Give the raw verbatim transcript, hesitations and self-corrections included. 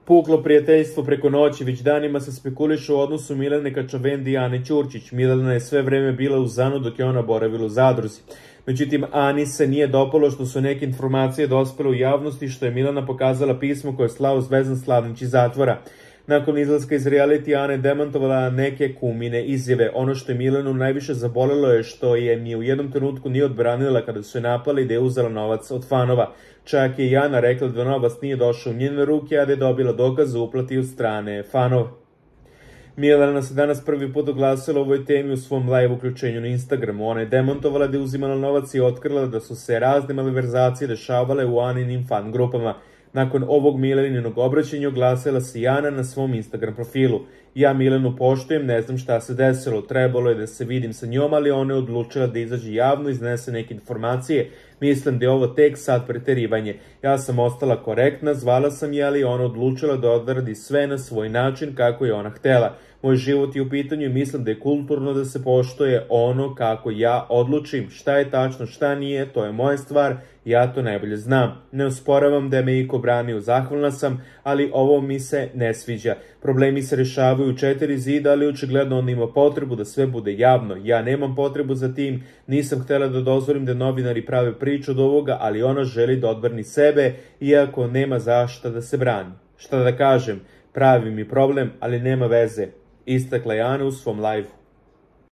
Puklo prijateljstvo preko noći, već danima se spekuliše o odnosu Milene Kačavendi i Ane Ćurčić. Milena je sve vreme bila u Zanu dok je ona boravila u zadruzi. Međutim, Ani se nije dopalo što su neke informacije dospele u javnosti, što je Milena pokazala pismo koje je slao Zvezdan Slavnić iz zatvora. Nakon izlaska iz reality, Ana je demantovala neke kumine izjave. Ono što je Milenu najviše zabolelo je što je ni u jednom trenutku nije odbranila kada su je napali da je uzela novac od fanova. Čak je i Ana rekla da novac nije došao u njene ruke, a da je dobila dokaz o uplati od strane fanova. Milena se danas prvi put oglasila o ovoj temi u svom live uključenju na Instagramu. Ona je demantovala da je uzimala novac i otkrila da su se razne malverzacije dešavale u Aninim fan grupama. Nakon ovog Mileninog obraćanja oglasila se i Ana na svom Instagram profilu. Ja Milenu poštujem, ne znam šta se desilo, trebalo je da se vidim sa njom, ali ona je odlučila da izađe javno i iznese neke informacije. Mislim da je ovo tek sad preterivanje. Ja sam ostala korektna, zvala sam je, ali ona odlučila da odradi sve na svoj način kako je ona htela. Moj život je u pitanju i mislim da je kulturno da se poštuje ono kako ja odlučim. Šta je tačno, šta nije, to je moja stvar, ja to najbolje znam. Ne usporavam da je me iko branio, zahvalna sam, ali ovo mi se ne sviđa. Problemi se rešavaju u četiri zida, ali očigledno on ima potrebu da sve bude javno. Ja nemam potrebu za tim, nisam htela da dozvolim da novinari prave priču od ovoga, ali ona želi da odbrani sebe, iako nema zašta da se brani. Šta da kažem, pravi mi problem, ali nema veze, istakla je Ana u svom live-u.